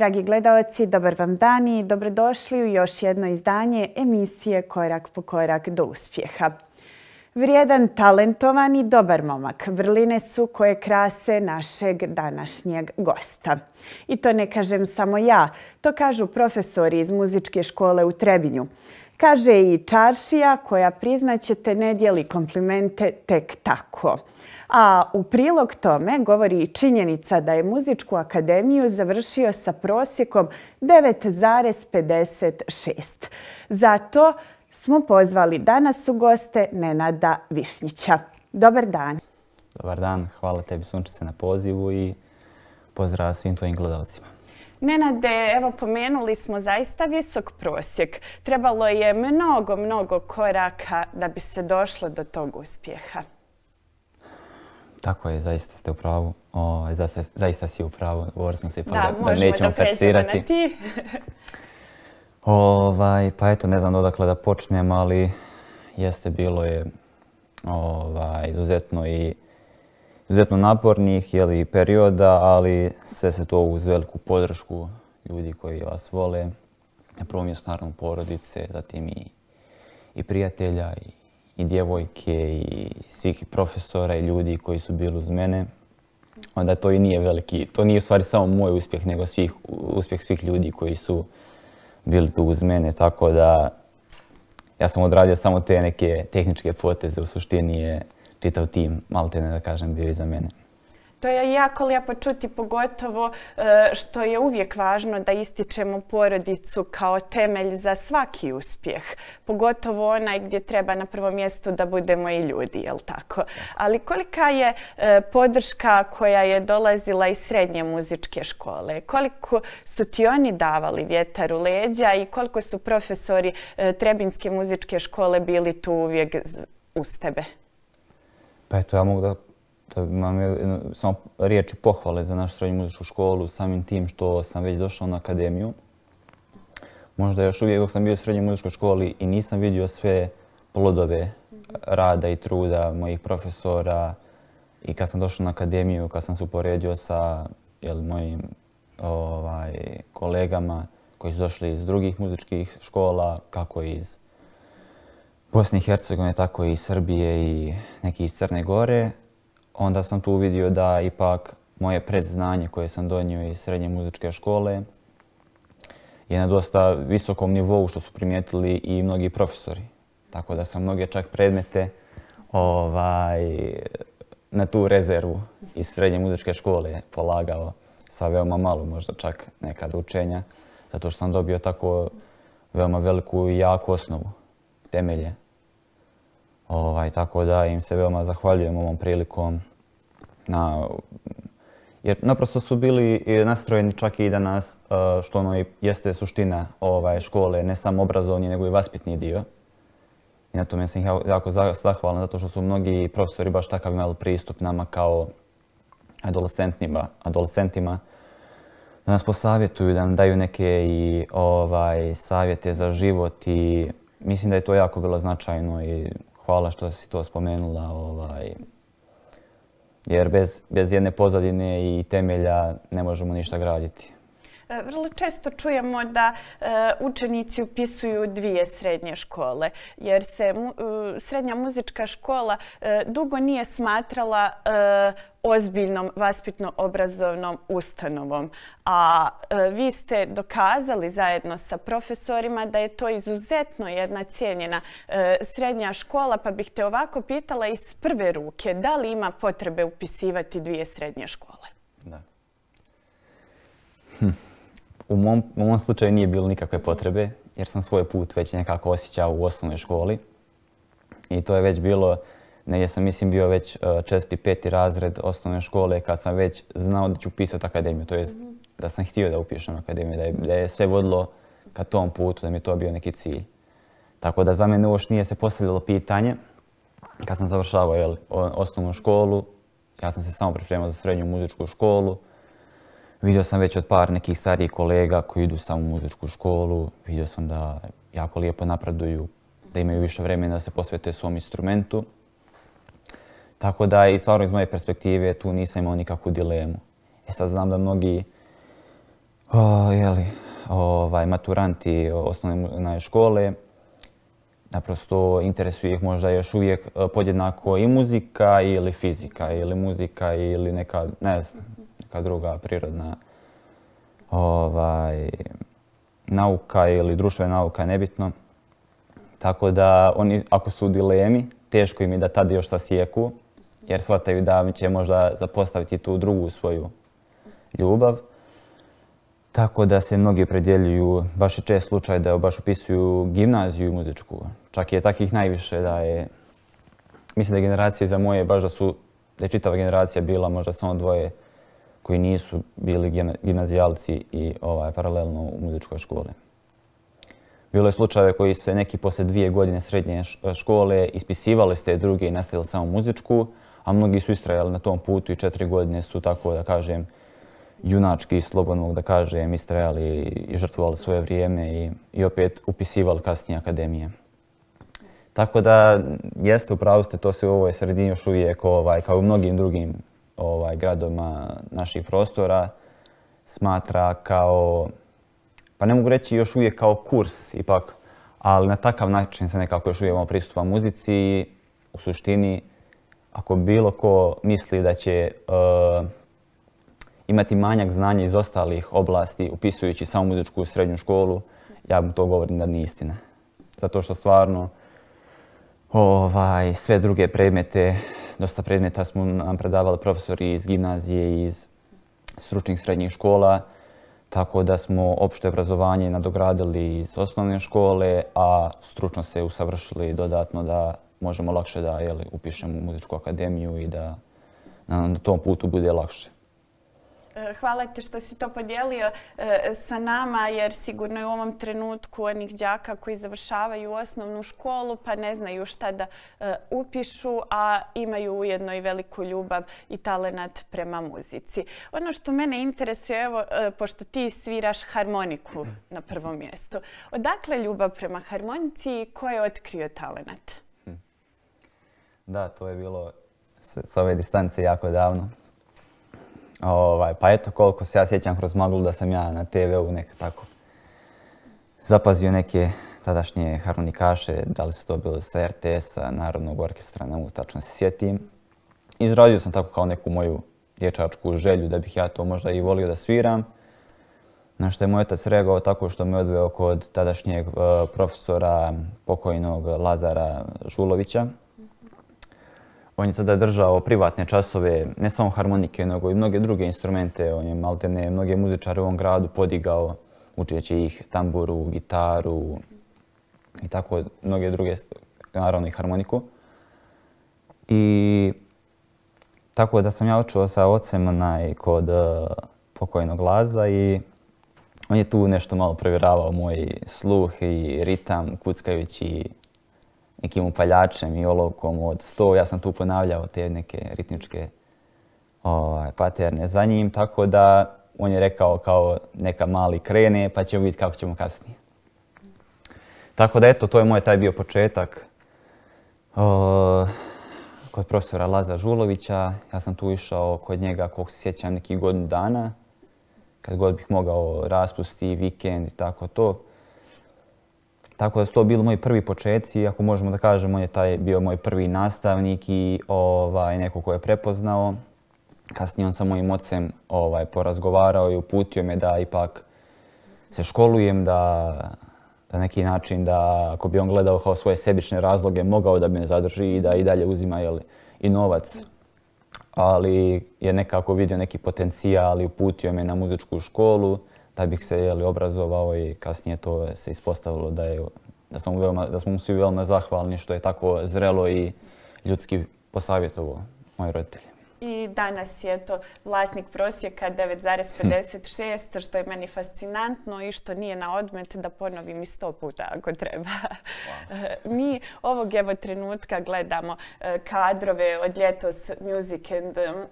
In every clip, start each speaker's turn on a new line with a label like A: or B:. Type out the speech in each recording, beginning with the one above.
A: dragi gledaoci, dobar vam dan i dobrodošli u još jedno izdanje emisije Korak po korak do uspjeha. Vrijedan, talentovan i dobar momak, vrline su koje krase našeg današnjeg gosta. I to ne kažem samo ja, to kažu profesori iz muzičke škole u Trebinju. Kaže i Čaršija koja, priznaćete, ne dijeli komplimente tek tako. A u prilog tome govori i činjenica da je muzičku akademiju završio sa prosjekom 9,56. Zato smo pozvali danas u goste Nenada Višnjića. Dobar dan.
B: Dobar dan, hvala tebi Sunčice na pozivu i pozdrav svim tvojim gledalcima.
A: Nenade, evo pomenuli smo zaista visok prosjek. Trebalo je mnogo koraka da bi se došlo do tog uspjeha.
B: Tako je, zaista ste u pravu. Zaista si u pravu. Govorili smo se
A: da
B: nećemo persirati.
A: Na ti.
B: Pa eto, ne znam odakle da počnem, ali bilo je izuzetno napornih perioda, ali sve se to uz veliku podršku ljudi koji vas vole. Na prvom mjestu naravno porodice, zatim i prijatelja, i djevojke, i svih profesora i ljudi koji su bili uz mene. Onda to i nije veliki, to nije u stvari samo moj uspjeh, nego uspjeh svih ljudi koji su bili tu uz mene. Tako da ja sam odradio samo te neke tehničke poteze, u suštini je čitav tim, maltene da kažem, bio iza mene.
A: To je jako lijepo čuti, pogotovo što je uvijek važno da ističemo porodicu kao temelj za svaki uspjeh. Pogotovo onaj gdje treba na prvom mjestu da budemo i ljudi, jel tako? Ali kolika je podrška koja je dolazila iz srednje muzičke škole? Koliko su ti oni davali vjetar u leđa i koliko su profesori Trebinjske muzičke škole bili tu uvijek uz tebe?
B: Pa eto, ja mogu da imam samo riječi pohvale za našu srednju muzičku školu, samim tim što sam već došao na akademiju. Možda još uvijek dok sam bio u srednjoj muzičkoj školi i nisam vidio sve plodove rada i truda mojih profesora. I kad sam došao na akademiju, kad sam se uporedio sa mojim kolegama koji su došli iz drugih muzičkih škola, kako iz Bosne i Hercegovine, tako i iz Srbije i neki iz Crne Gore, onda sam tu vidio da ipak moje predznanje koje sam donio iz srednje muzičke škole je na dosta visokom nivou, što su primijetili i mnogi profesori. Tako da sam mnoge čak predmete na tu rezervu iz srednje muzičke škole polagao sa veoma malo, možda čak nekad učenja, zato što sam dobio tako veoma veliku i jaku osnovu, temelje. Tako da im se veoma zahvaljujem ovom prilikom, jer naprosto su bili nastrojeni čak i da nas, što ono i jeste suština škole, ne samo obrazovni nego i vaspitni dio. I na tome sam jako zahvalan zato što su mnogi profesori baš takav imali pristup nama kao adolescentima, da nas posavjetuju, da nam daju neke i savjete za život i mislim da je to jako bilo značajno i hvala što si to spomenula, jer bez jedne pozadine i temelja ne možemo ništa graditi.
A: Vrlo često čujemo da učenici upisuju dvije srednje škole, jer se srednja muzička škola dugo nije smatrala ozbiljnom vaspitno-obrazovnom ustanovom. A vi ste dokazali zajedno sa profesorima da je to izuzetno jedna cijenjena srednja škola, pa bih te ovako pitala iz prve ruke, da li ima potrebe upisivati dvije srednje škole?
B: Da. U mom slučaju nije bilo nikakve potrebe, jer sam svoj put već nekako osjećao u osnovnoj školi. I to je već bilo, negdje sam bio već 4. 5. razred osnovne škole kad sam već znao da ću upisati akademiju. To jest da sam htio da upišem akademiju, da je sve vodilo ka tom putu, da mi je to bio neki cilj. Tako da za mene uopšte nije se postavljalo pitanje. Kad sam završavao osnovnu školu, ja sam se samo pripremao za srednju muzičku školu. Vidio sam već od par nekih starijih kolega koji idu samo u muzičku školu. Vidio sam da jako lijepo napreduju, da imaju više vremena da se posvete svom instrumentu. Tako da i stvarno iz moje perspektive tu nisam imao nikakvu dilemu. Sad znam da mnogi Maturanti osnovne škole. Naprosto interesuje ih možda još uvijek podjednako i muzika ili fizika ili muzika ili neka, ne znam, neka druga prirodna nauka ili društvena nauka, nebitno. Tako da oni, ako su u dilemi, teško im je da tada još sasjeku, jer shvataju da će možda zapostaviti tu drugu svoju ljubav. Tako da se mnogi opredjeljuju, baš je čest slučaj da baš upisuju gimnaziju muzičku. Čak je takvih najviše da je, mislim da je generacije za moje, baš da je čitava generacija bila možda samo dvoje koji nisu bili gimnazijalci i paralelno u muzičkoj školi. Bilo je slučajeve koji su se neki poslije 2 godine srednje škole ispisivali s te druge i nastavili samo muzičku, a mnogi su istrajali na tom putu i 4 godine su, tako da kažem, junački, slobodno da kažem, istrajali i žrtvovali svoje vrijeme i opet upisivali kasnije akademije. Tako da, jeste, upravo ste, to se u ovoj sredini još uvijek, kao u mnogim drugim gradovima naših prostora, smatra kao, pa ne mogu reći još uvijek kao kurs ipak, ali na takav način se nekako još uvijek pristupa muzici. U suštini, ako bilo ko misli da će imati manjak znanja iz ostalih oblasti upisujući samo muzičku srednju školu, ja mu to govorim da nije istina. Zato što stvarno sve druge predmete, dosta predmeta smo nam predavali profesori iz gimnazije i iz stručnih srednjih škola, tako da smo opšte obrazovanje nadogradili iz osnovne škole, a stručno se usavršili dodatno da možemo lakše da upišemo u muzičku akademiju i da nam na tom putu bude lakše.
A: Hvala ti što si to podijelio sa nama, jer sigurno je u ovom trenutku onih đaka koji završavaju osnovnu školu pa ne znaju šta da upišu, a imaju ujedno i veliku ljubav i talenat prema muzici. Ono što mene interesuje, evo, pošto ti sviraš harmoniku na prvom mjestu, odakle ljubav prema harmonici i ko je otkrio talenat?
B: Da, to je bilo s ove distance jako davno. Pa eto, koliko se ja sjećam kroz maglu da sam ja na TV-u nekako tako zapazio neke tadašnje harmonikaše, da li su to bili sa RTS-a, Narodnog orkestra, ne mogu tačno se sjetim. Izrazio sam tako kao neku moju dječačku želju da bih ja to možda i volio da sviram. Na što je moj otac reagovao tako što me odveo kod tadašnjeg profesora pokojnog Lazara Žulovića. On je tada držao privatne časove, ne samo harmonike, nego i mnoge druge instrumente. On je maltene mnoge muzičare u ovom gradu podigao, učeći ih tamburu, gitaru i tako mnoge druge, naravno i harmoniku. I tako da sam ja učio sa ocem kod pokojnog Laza i on je tu nešto malo provjeravao moj sluh i ritam, kuckajući nekim upaljačem i olovkom od 100. Ja sam tu ponavljao te neke ritmičke paterne za njim, tako da on je rekao kao neka mali krene pa ćemo vidjeti kako ćemo kasnije. Tako da eto, to je moj taj bio početak kod profesora Laza Žulovića. Ja sam tu išao kod njega, koliko se sjećam, nekih godinu dana, kad god bih mogao raspusti, vikend i tako to. Tako da su to bili moji prvi početci, ako možemo da kažemo, on je taj bio moj prvi nastavnik i neko ko je prepoznao. Kasnije on sa mojim ocem porazgovarao i uputio me da ipak se školujem, da na neki način da ako bi on gledao kao svoje sebične razloge mogao da me zadrži i da i dalje uzima i novac. Ali je nekako vidio neki potencijal i uputio me na muzičku školu da bih se obrazovao i kasnije to se ispostavilo da smo mu svi veoma zahvalni što je tako zrelo i ljudski posavjetovao moji roditelji.
A: I danas je to vlasnik prosjeka 9,56, što je meni fascinantno i što nije na odmet da ponovim i 100 puta ako treba. Mi ovog trenutka gledamo kadrove od ljetos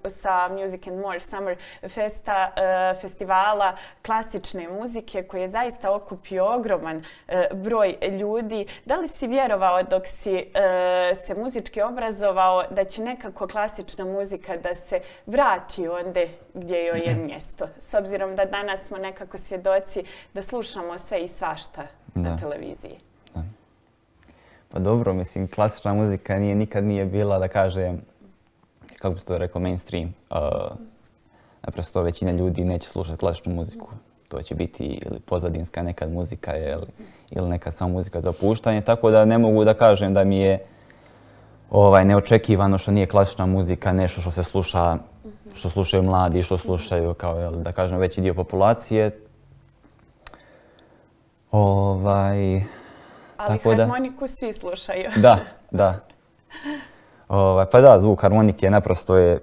A: sa Music and More Summer festivala klasične muzike koji je zaista okupio ogroman broj ljudi. Da li si vjerovao dok si se muzički obrazovao da će nekako klasična muzika da se vrati ondje gdje joj je mjesto. S obzirom da danas smo nekako svjedoci da slušamo sve i svašta na televiziji.
B: Da. Pa dobro, mislim, klasična muzika nikad nije bila, da kažem, kako bi se to rekao, mainstream. Naprosto većina ljudi neće slušati klasičnu muziku. To će biti ili pozadinska nekad muzika ili neka samo muzika za opuštanje. Tako da ne mogu da kažem da mi je neočekivano što nije klasična muzika nešto što se sluša, što slušaju mladi, što slušaju kao, da kažem, veći dio populacije.
A: Ali harmoniku svi slušaju.
B: Da. Pa da, zvuk harmonike naprosto je,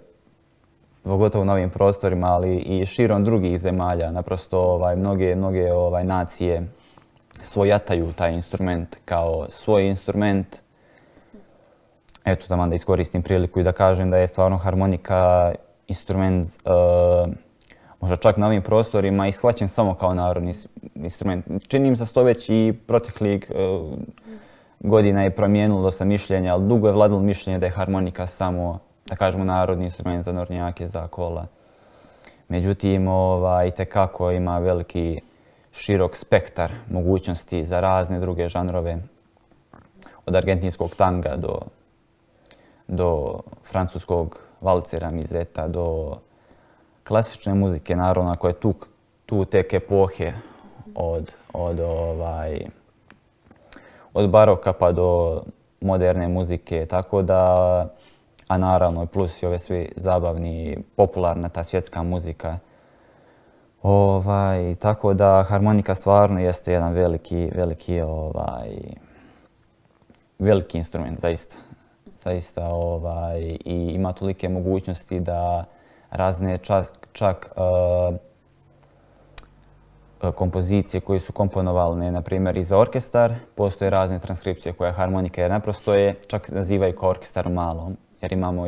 B: pogotovo u novim prostorima, ali i širom drugih zemalja, naprosto mnoge nacije svojataju taj instrument kao svoj instrument. Eto, da iskoristim priliku i da kažem da je stvarno harmonika instrument, možda čak na ovim prostorima, i shvaćen samo kao narodni instrument. Čini mi se to već i proteklih godina je promijenilo dosta mišljenja, ali dugo je vladalo mišljenje da je harmonika samo, da kažemo, narodni instrument za nornjake, za kola. Međutim, itekako ima veliki, širok spektar mogućnosti za razne druge žanrove, od argentinskog tanga do francuskog valcera, mizeta, do klasične muzike, naravno, koja je tu tek epohe od baroka pa do moderne muzike, tako da, a naravno plus i ove svi zabavni, popularna ta svjetska muzika. Tako da harmonika stvarno jeste jedan veliki instrument, zaista. I ima tolike mogućnosti da razne čak kompozicije koje su komponovane, na primjer, i za orkestar, postoje razne transkripcije koje harmonika, jer naprosto je, čak nazivaju kao orkestar malom, jer imamo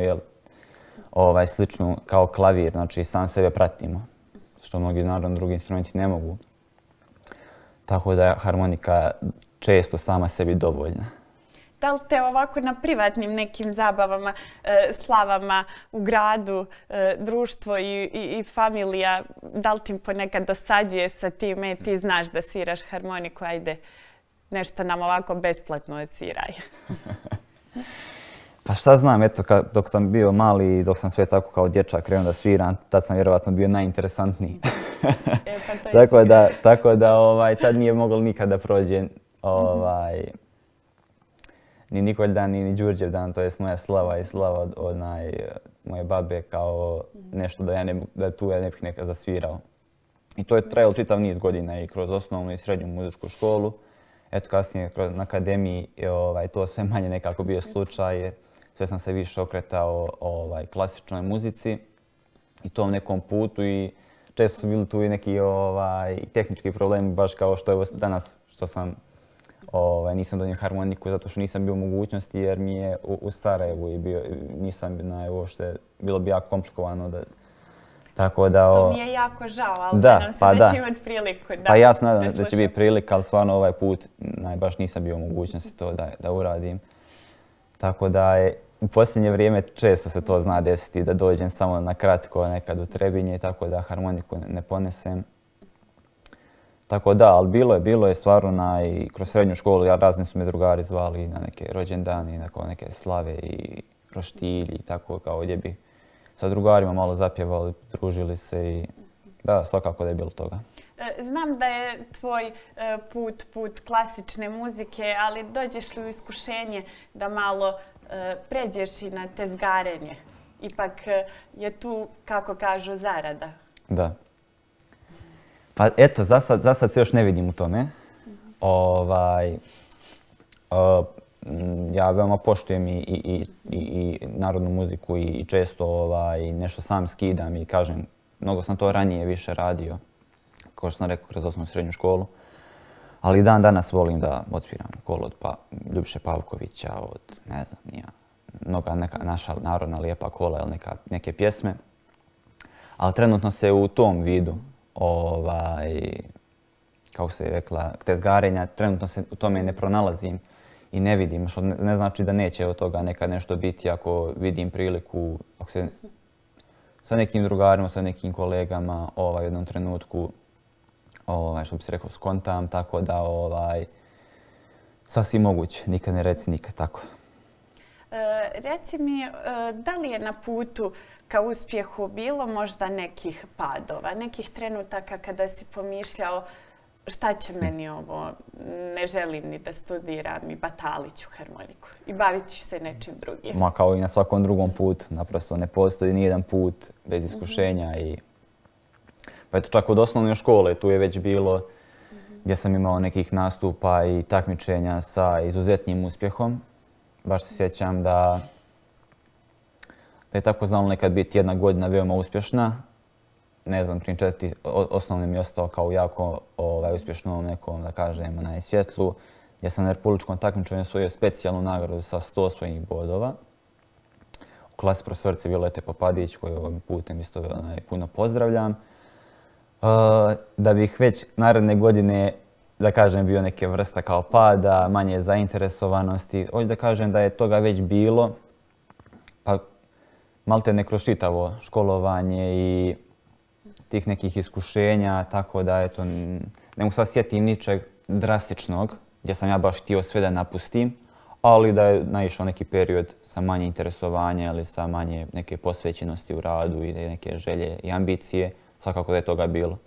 B: sličnu kao klavir, znači sam sebe pratimo, što mnogi naravno drugi instrumenti ne mogu. Tako da je harmonika često sama sebi dovoljna.
A: Da li te ovako na privatnim nekim zabavama, slavama u gradu, društvo i familija, da li ti ponekad dosađuje sa time, ti znaš da sviraš harmoniku, ajde nešto nam ovako besplatno odsviraj?
B: Pa šta znam, eto, dok sam bio mali i dok sam sve tako kao dječak krenuo da sviram, tad sam vjerovatno bio najinteresantniji. Tako da tad nije moglo nikada prođe ni Nikoljdan, ni Đurđevdan, to jest moja slava i slava od moje babe kao nešto da tu ja ne bih nekad zasvirao. I to je trajalo čitav niz godina i kroz osnovnu i srednju muzičku školu. Eto, kasnije na akademiji to sve manje nekako bio slučaj. Sve sam se više okretao klasičnoj muzici i tom nekom putu, i često su bili tu i neki tehnički problemi, baš kao što je danas, što sam nisam donio harmoniku zato što nisam bio u mogućnosti, jer mi je u Sarajevu i nisam uopšte, bilo bi jako komplikovano da...
A: To mi je jako žao, ali nadam se da će imati priliku.
B: Pa ja se nadam da će biti prilika, ali stvarno ovaj put baš nisam bio u mogućnosti to da uradim. Tako da u posljednje vrijeme često se to zna desiti, da dođem samo na kratko nekad u Trebinje, tako da harmoniku ne ponesem. Tako da, ali bilo je stvarno i kroz srednju školu, razni su me drugari zvali na neke rođendane, na neke slave i roštilji i tako, kao gdje bi sa drugarima malo zapjevali, družili se i da, svakako da je bilo toga.
A: Znam da je tvoj put klasične muzike, ali dođeš li u iskušenje da malo pređeš i na tezgarenje? Ipak je tu, kako kažu, zarada.
B: Da. Pa eto, za sad se još ne vidim u tome. Ja veoma poštujem i narodnu muziku i često nešto sam skidam i kažem, mnogo sam to ranije više radio, kao što sam rekao, kroz osnovnu i srednju školu. Ali dan danas volim da odsviram kolo od Ljubiše Pavkovića, od, ne znam, mnoga neka naša narodna lijepa kola ili neke pjesme. Ali trenutno se u tom vidu, kako se rekla, tezgarenja, trenutno se u tome ne pronalazim i ne vidim, što ne znači da neće od toga nekad nešto biti ako vidim priliku, ako se sa nekim drugarima, sa nekim kolegama u jednom trenutku, što bi se rekao, skontam, tako da sasvim moguće, nikad ne reci nikad, tako.
A: Reci mi, da li je na putu ka uspjehu bilo možda nekih padova, nekih trenutaka kada si pomišljao šta će meni ovo, ne želim ni da studiram i batalit ću harmoniku i bavit ću se nečim drugim?
B: Ma kao i na svakom drugom putu, naprosto ne postoji nijedan put bez iskušenja. Pa eto, čak od osnovne škole tu je već bilo gdje sam imao nekih nastupa i takmičenja sa izuzetnim uspjehom. Baš se sjećam da je tako znalo nekad biti jedna godina veoma uspješna. Ne znam, prije 4. osnovne mi je ostao kao jako uspješnom nekom, da kažem, na svjetlu, gdje sam na republičkom takmičenju osvojio specijalnu nagradu sa 100 osvojenih bodova. U klasi profesorice Violete Popadić, koju ovim putem isto puno pozdravljam. Da bih već naredne godine, da kažem, bio neke vrsta kao pada, manje zainteresovanosti. Hoću da kažem da je toga već bilo, pa maltene kroz čitavo školovanje i tih nekih iskušenja, tako da eto, ne mogu sad sjetim ničeg drastičnog gdje sam ja baš htio sve da napustim, ali da je naišao neki period sa manje interesovanja ili sa manje neke posvećenosti u radu i neke želje i ambicije, svakako da je toga bilo.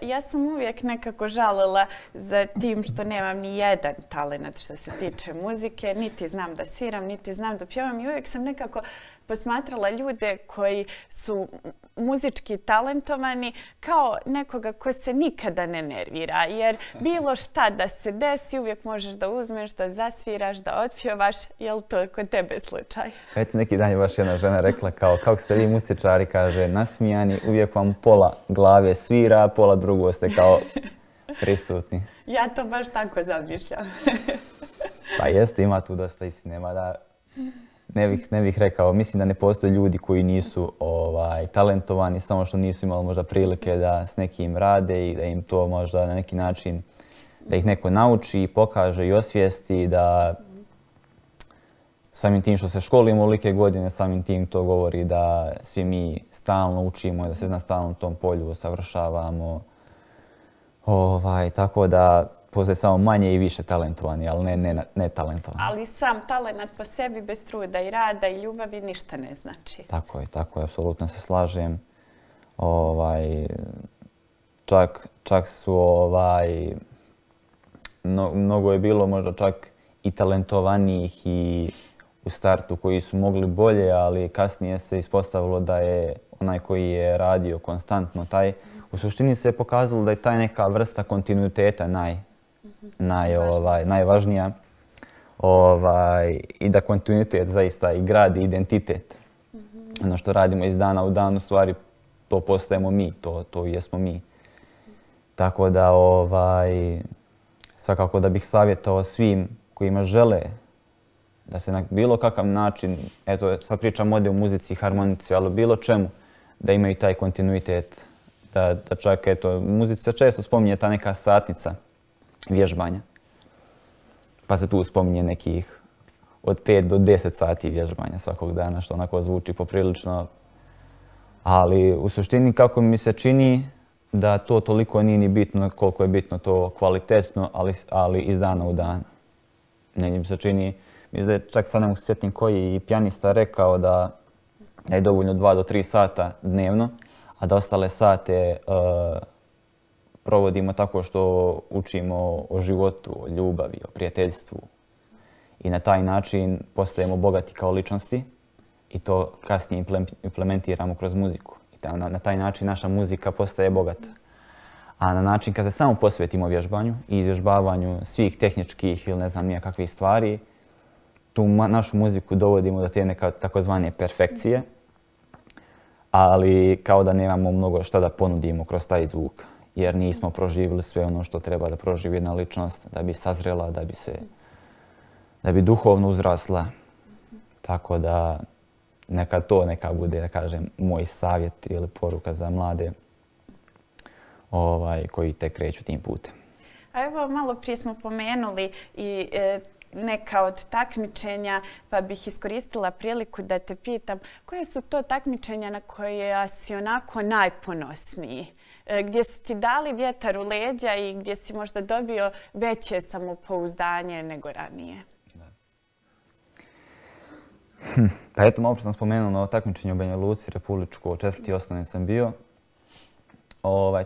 A: Ja sam uvijek nekako žalila za tim što nemam ni jedan talent što se tiče muzike, niti znam da sviram, niti znam da pjevam i uvijek sam nekako posmatrala ljude koji su muzički talentovani kao nekoga ko se nikada ne nervira, jer bilo šta da se desi uvijek možeš da uzmeš, da zasviraš, da otpjevaš. Je li to kod tebe slučaj?
B: Eto, neki dan je baš jedna žena rekla kao kako ste vi muzičari, kaže, nasmijani, uvijek vam pola glave svira, pola drugo ste kao prisutni.
A: Ja to baš tako zamišljam.
B: Pa jeste, ima tu dosta istine, mada ne bih rekao, mislim da ne postoje ljudi koji nisu talentovani, samo što nisu imali možda prilike da s nekim rade i da im to možda na neki način, da ih neko nauči, pokaže i osvijesti, da samim tim što se školimo olike godine, samim tim to govori da svi mi stalno učimo i da se na stalnom tom polju usavršavamo. Tako da postoje samo manje i više talentovani, ali ne talentovani.
A: Ali sam talent po sebi bez truda i rada i ljubavi ništa ne znači.
B: Tako je, apsolutno se slažem. Čak su mnogo je bilo možda čak i talentovanijih i u startu koji su mogli bolje, ali kasnije se ispostavilo da je onaj koji je radio konstantno taj. U suštini se je pokazalo da je taj neka vrsta kontinuiteta najvažnija i da kontinuitet zaista i gradi identitet. Ono što radimo iz dana u dan, u stvari to postajemo mi, to jesmo mi. Tako da svakako da bih savjetovao svim kojima žele da se na bilo kakav način, eto sad pričam ovdje o muzici, harmonici, ali bilo čemu, da imaju taj kontinuitet. Da čak, eto, muzici se često spominje ta neka satnica vježbanja. Pa se tu spominje nekih od 5 do 10 sati vježbanja svakog dana, što onako zvuči poprilično. Ali u suštini kako mi se čini da to toliko nije ni bitno koliko je bitno to kvalitetno, ali iz dana u dan. Negdje mi se čini, mislim da je čak sad ne mogu se sjetim koji pijanista rekao da je dovoljno 2 do 3 sata dnevno, a da ostale sate provodimo tako što učimo o životu, o ljubavi, o prijateljstvu. I na taj način postajemo bogati kao ličnosti i to kasnije implementiramo kroz muziku. I na taj način naša muzika postaje bogata. A na način kad se samo posvetimo vježbanju i izvježbavanju svih tehničkih ili ne znam nije kakvih stvari, tu našu muziku dovodimo do te neke takozvane perfekcije, ali kao da nemamo mnogo šta da ponudimo kroz taj zvuk, jer nismo proživjeli sve ono što treba da proživi jedna ličnost, da bi sazrela, da bi duhovno uzrasla. Tako da neka bude, da kažem, moj savjet ili poruka za mlade koji tek kreću tim putem.
A: A evo, malo prije smo pomenuli i neka od takmičenja, pa bih iskoristila priliku da te pitam koje su to takmičenja na koje si onako najponosniji? Gdje su ti dali vjetar u leđa i gdje si možda dobio veće samopouzdanje nego ranije?
B: Pa eto, malo sam spomenuo na takmičenju u Banja Luci, republičko, 4. osnovne sam bio.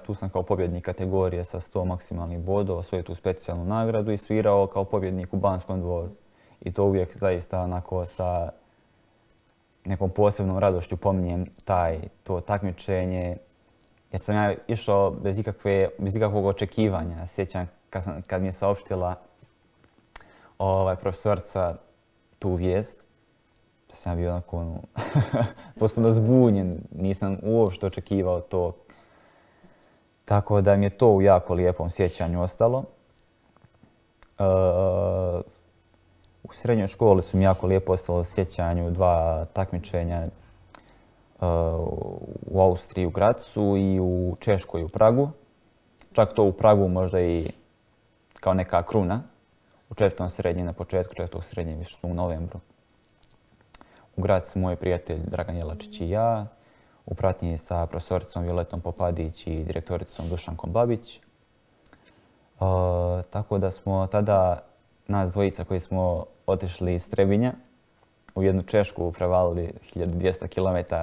B: Tu sam kao pobjednik kategorije sa 100 maksimalnih bodova osvojio tu specijalnu nagradu i svirao kao pobjednik u Banskom dvoru. I to uvijek zaista onako sa nekom posebnom radošću pominjem to takmičenje. Jer sam ja išao bez ikakvog očekivanja. Sjećam kad mi je saopštila profesorica tu vijest, da sam ja bio onako potpuno zbunjen. Nisam uopšte očekivao to. Tako da mi je to u jako lijepom sjećanju ostalo. U srednjoj školi su mi jako lijepo ostalo u sjećanju 2 takmičenja u Austriji u Gracu i u Češkoj u Pragu. Čak to u Pragu možda i kao neka kruna. U 4. srednje, na početku 4. srednje, više smo u novembru. U Gracu moj prijatelj Dragan Jelačić i ja. U pratnji sa profesoricom Violetom Popadić i direktoricom Dušankom Babić. Tako da smo tada, nas dvojica koji smo otišli iz Trebinja, u jednu Češku prevalili 1200 km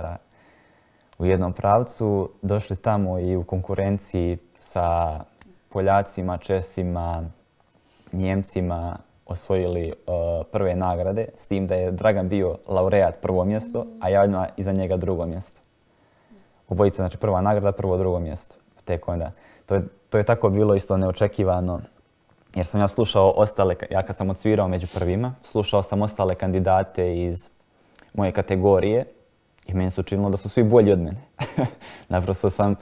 B: u jednom pravcu, došli tamo i u konkurenciji sa Poljacima, Česima, Njemcima osvojili prve nagrade, s tim da je Dragan bio laureat prvo mjesto, a ja iza njega drugo mjesto. Obojica, znači prva nagrada, prvo, drugo mjesto. Tek onda. To je tako bilo isto neočekivano, jer sam ja slušao ostale, ja kad sam odsvirao među prvima, slušao sam ostale kandidate iz moje kategorije i meni se učinilo da su svi bolji od mene. Naprosto sam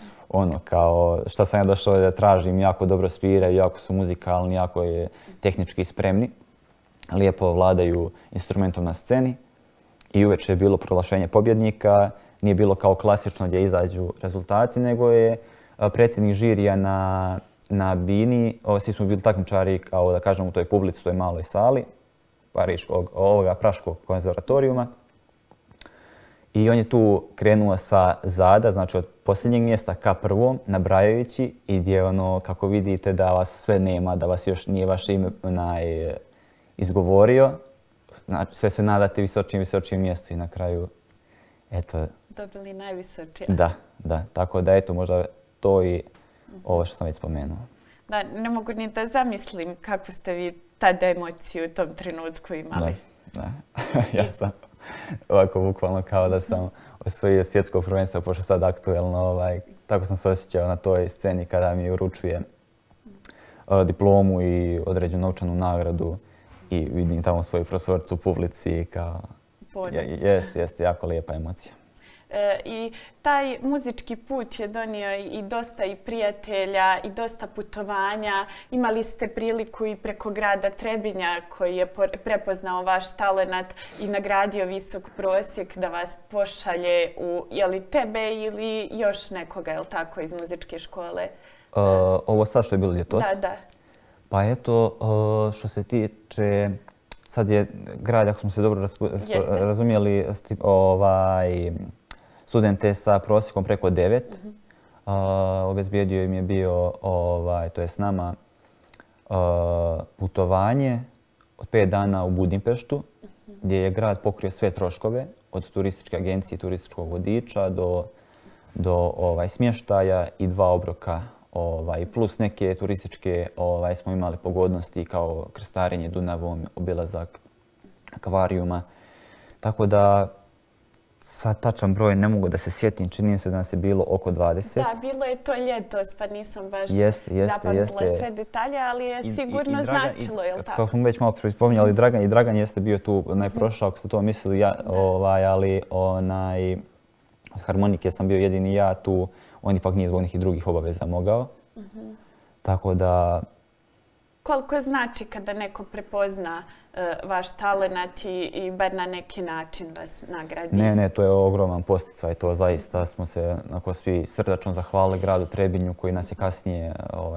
B: kao šta sam ja došao da tražim, jako dobro sviraju, jako su muzikalni, jako je tehnički spremni, lijepo vladaju instrumentom na sceni i uveče je bilo proglašenje pobjednika. Nije bilo kao klasično gdje izađu rezultati, nego je predsjednik žirija na bini. Svi smo bili takmičari, kao da kažem, u toj publici, u toj maloj sali Praškog konzervatorijuma. I on je tu krenuo sa zada, znači od posljednjeg mjesta ka prvom, nabrajajući i gdje kako vidite da vas sve nema, da vas još nije vaše ime izgovorio. Znači, sve se nadate visočijem mjestu i na kraju, eto...
A: Dobili najvisočije.
B: Da. Tako da, eto, možda to i ovo što sam već spomenuo.
A: Da, ne mogu ni da zamislim kako ste vi tada emociju u tom trenutku imali.
B: Da. Ja sam ovako bukvalno kao da sam osvojio svjetsko prvenstvo, pošto sad aktuelno, tako sam se osjećao na toj sceni kada mi uručuje diplomu i određenu novčanu nagradu i vidim tamo svoju profesoricu u publici kao... Jeste, jako lijepa emocija.
A: I taj muzički put je donio i dosta i prijatelja i dosta putovanja. Imali ste priliku i preko grada Trebinja koji je prepoznao vaš talenat i nagradio visok prosjek da vas pošalje u, je li tebe ili još nekoga, je li tako, iz muzičke škole?
B: Ovo sad što je bilo ljetos?
A: Da.
B: Pa eto, što se tiče, sad je grad, ako smo se dobro razumijeli, studente sa prosjekom preko 9. Obezbijedio im je bio, to je s nama, putovanje od 5 dana u Budimpeštu, gdje je grad pokrio sve troškove, od turističke agencije i turističkog vodiča do smještaja i 2 obroka, plus neke turističke smo imali pogodnosti kao krstarenje Dunavom, obilazak akvarijuma. Tako da sad tačan broj ne mogu da se sjetim, čini se da nas je bilo oko 20.
A: Da, bilo je to ljetos, pa nisam baš zapamtila sve detalje, ali je sigurno značilo, je li tako?
B: Kako smo već malo spominjali, Dragan jeste bio tu najprošao, ako ste to mislili, ali od harmonike sam bio jedini ja tu, on ipak nije zbog nekih drugih obaveza mogao. Tako da...
A: Koliko znači kada neko prepozna vaš talenat i bar na neki način vas nagradi?
B: Ne, to je ogroman posticaj. To zaista smo se svi srdačno zahvalili gradu Trebinju koji nas je kasnije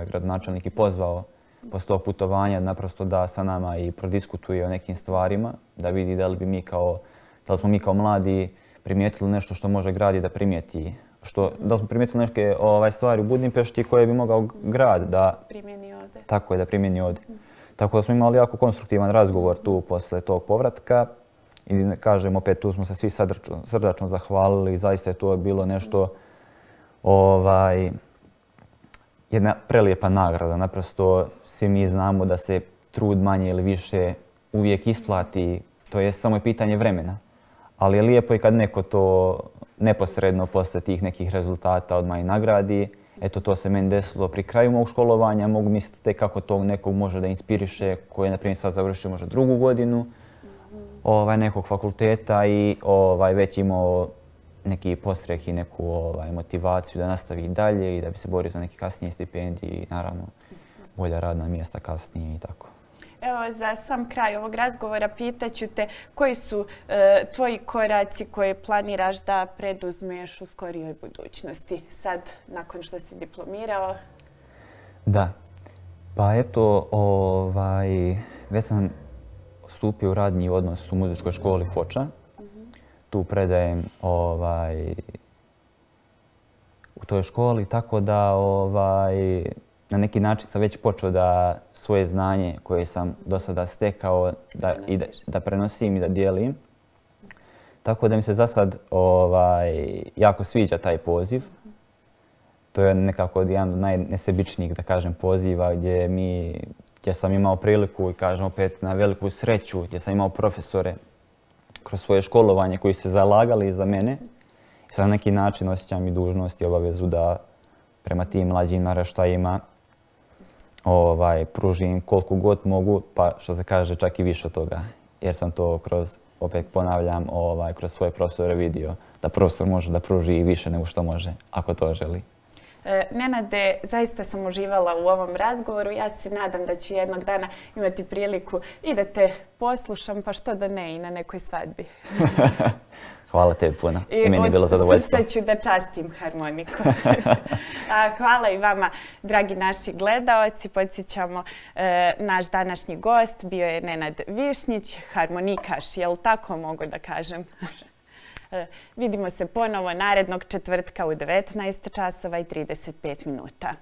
B: gradonačelnik i pozvao posle tog putovanja naprosto da sa nama i prodiskutuje o nekim stvarima, da vidi da li da li smo mi kao mladi primijetili nešto što može grad i da primijeti. Da li smo primijetili neke stvari u Budimpešti koje bi mogao grad da
A: primjeni ovdje.
B: Tako je, da primjeni ovdje. Tako da smo imali jako konstruktivan razgovor tu posle tog povratka i kažem opet tu smo se svi srdačno zahvalili i zaista je to bilo nešto jedna prelijepa nagrada. Naprosto svi mi znamo da se trud manje ili više uvijek isplati, to je samo pitanje vremena. Ali je lijepo i kad neko to neposredno posle tih nekih rezultata odmah i nagradi. Eto, to se meni desilo pri kraju mog školovanja. Mogu misliti tek kako to nekog može da inspiriše, koji je, na primjer, sad završio možda 2. godinu nekog fakulteta i već imao neki postreh i neku motivaciju da nastavi dalje i da bi se borio za neke kasnije stipendije i naravno bolja radna mjesta kasnije i tako.
A: Evo, za sam kraj ovog razgovora pitaću te koji su tvoji koraci koje planiraš da preduzmeš u skorijoj budućnosti, sad nakon što si diplomirao?
B: Da, pa eto, već sam stupio u radni odnos u muzičkoj školi Foča. Tu predajem u toj školi, tako da na neki način sam već počeo da svoje znanje koje sam do sada stekao da prenosim i da dijelim. Tako da mi se za sad jako sviđa taj poziv. To je nekako jedan od najnesebičnijih, da kažem, poziva gdje sam imao priliku i kažem opet na veliku sreću, gdje sam imao profesore kroz svoje školovanje koji se zalagali za mene. I sad na neki način osjećam i dužnost i obavezu da prema tim mlađim naraštajima pružim koliko god mogu, pa što se kaže čak i više od toga. Jer sam to opet ponavljam, kroz svoje profesore vidio da profesor može da pruži i više nego što može, ako to želi.
A: Nenade, zaista sam uživala u ovom razgovoru. Ja se nadam da ću jednog dana imati priliku i da te poslušam, pa što da ne, i na nekoj svadbi.
B: Hvala tebi puno. I meni je bilo zadovoljstvo.
A: Od srca ću da častim harmoniku. Hvala i vama, dragi naši gledaoci. Podsjećamo, naš današnji gost bio je Nenad Višnjić, harmonikaš, jel tako mogu da kažem? Vidimo se ponovo narednog četvrtka u 19 časova i 35 minuta.